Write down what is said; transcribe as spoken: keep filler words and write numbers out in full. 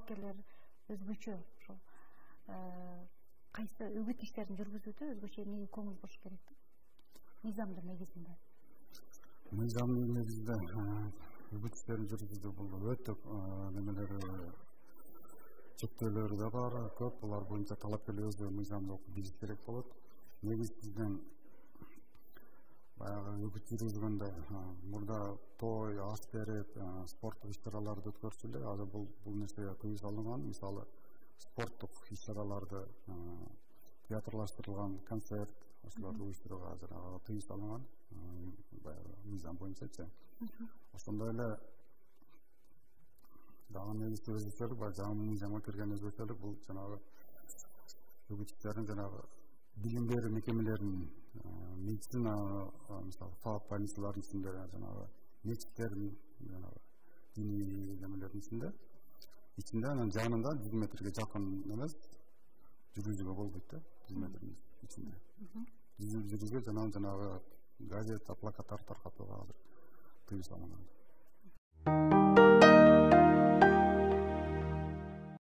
талапкерлер өзгөчө ошол кайсы үгүт иштерин жүргүзүүдө өзгөчө эмнеге көңүл буруш керек? Мыйзамдын негизинде. Мыйзамдын негизинде үгүт иштерин жүргүзүүдө бул өтө немелери чектөөлөрү да бар, көп. Булар боюнча талапкерлер өзү мыйзамды окуп билиш керек болот. Негизинен баягы үгүт жүргүзгөндө мурда той, аш берип, спорттук иш-чараларды өткөрсө эле, азыр бул бул нерсеге тыюу салынган. Мисалы, спорттук иш-чараларды, театрлаштырылган концерт, ошолорду уюштурууга азыр тыюу салынган. Баягы мыйзам боюнчачы. Ошондой эле дагы негизги өзгөчөлүк бар, жаңы мыйзамга кирген өзгөчөлүк бул жанагы үгүт иштерин жанагы билим берүү мекемелеринин, медицина, мисалы, фаб больницалардын ичинде, жанагы мечиттердин, жанагы диний немелердин ичинде, ичинде анан жанында жүз метрге жакын эмес жүргүзүүгө болбойт да, жүз метрдин ичинде. Жүргүзүүгө жанагы газета, плакаттар таркатууга азыр тыюу салынган.